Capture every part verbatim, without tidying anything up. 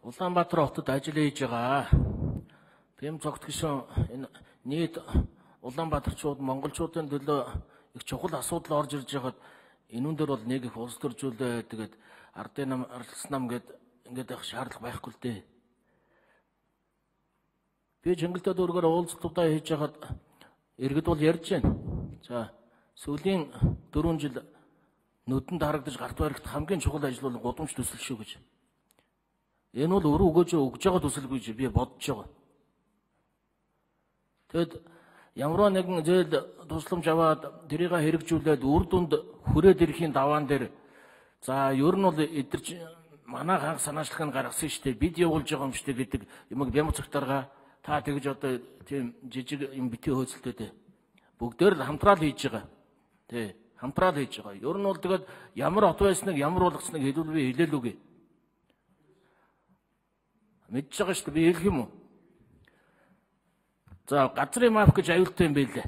Улаанбаатар хотод ажил хийж байгаа. Бэм цогт гишүүн энэ нийт Улаанбаатарчууд монголчуудын төлөө их чухал асуудал орж ирж байгаад энүүн дээр бол нэг их улс төржүүлээ тэгээд ардын нам арилсан нам гээд ингээд их шаардлага байхгүй л дээ. Би Чингэлтэй дүүргээр уулзалтуудаа хийж байгаад иргэд бол ярьж байна. За сүүлийн дөрвөн жил нүдэнд харагдаж гарт баригт хамгийн чухал ажил бол гудамж төсөл шүү гэж. Энэ бол өрөө өгөөж өгж байгаа төсөл гэж би бодож байгаа. Тэгэд ямар нэгэн зээл тусламж аваад тэрийг хэрэгжүүлээд үр дүнд хүрээд ирэхийн даваан дээр за ер нь бол эдэрч манай хаан санаачлагыг гаргасан шүү дээ. Бид явуулж байгаа юм шүү дээ гэдэг юмг бямц цагтарга та тэгж одоо тийм жижиг юм битгий хөөцөлтэй дээ. Бүгдээр л хамтраад хийж байгаа. Тэ хамтраад хийж байгаа. Ер нь бол тэгээд ямар хот байсныг ямар болгосныг хэлвэл би хэлээл үгүй. Мэдж байгаа шүү дээ би хэлэх юм уу? За газрын маф гэж аюултай юм байлээ.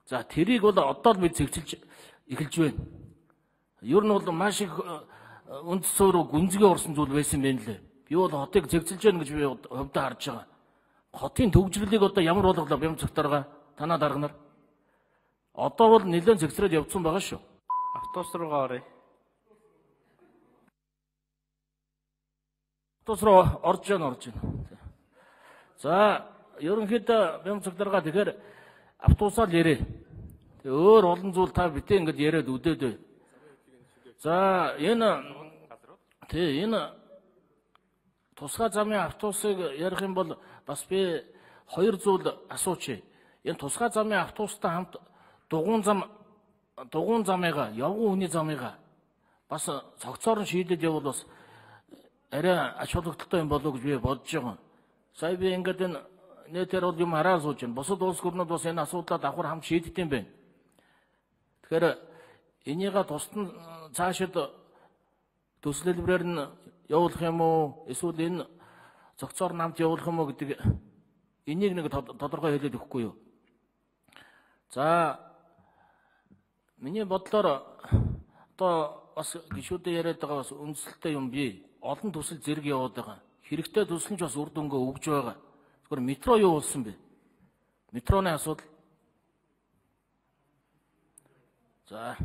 За тэрийг бол одоо л бид зэгцэлж эхэлж байна. Ер нь бол маш их үнд суурь гүнзгий орсон зүйл байсан юм байна лээ. Би бол хотыг зэгцэлж байна гэж би хувьдаа харж байгаа. Хотын төвжирлийг одоо ямар болголоо бям цагтарга танаа дарга нар. Одоо бол нэлээд зэгцрээд явцсан байгаа шүү. Автобус руугаа оръё. Автобус руу орж яана орж яана. За ерөнхийдөө бям цагтарга тэгэхээр автобусаар ярээ. Тэгээ өөр олон зүйл та битээ ингэж яриад үдээд бай. За энэ тий энэ тусгай замын автобусыг ярих юм бол бас би хоёр зүйл асуучих. Энэ тусгай замын автобустай хамт дугуун зам дугуун замыгаа явган хүний замыгаа бас цогцоор нь шийдээд явбал бас арай ач холбогдолтой юм болов гэж би бодож байгаа. Сая би ингээд энэ нэтээр бол юм хараа сууж байна. Бусад улс гүрнүүд бас энэ асуудлаа давхар хамт шийддэг юм байна. Тэгэхээр энийгээ тусдан цаашид төслөлбөрээр нь явуулах юм уу? Эсвэл энэ цогцоор намт явуулах юм уу гэдэг энийг нэг тодорхой хэлээд өгөхгүй юу? За миний бодлоор одоо бас гишүүдээ яриад байгаа бас үндэслэлтэй юм бий. Олон төсөл зэрэг яваад байгаа. Хэрэгтэй төсөл нь ч бас үр дүнгээ өгж байгаа. Зүгээр метро юу болсон бэ? Метроны асуудал. За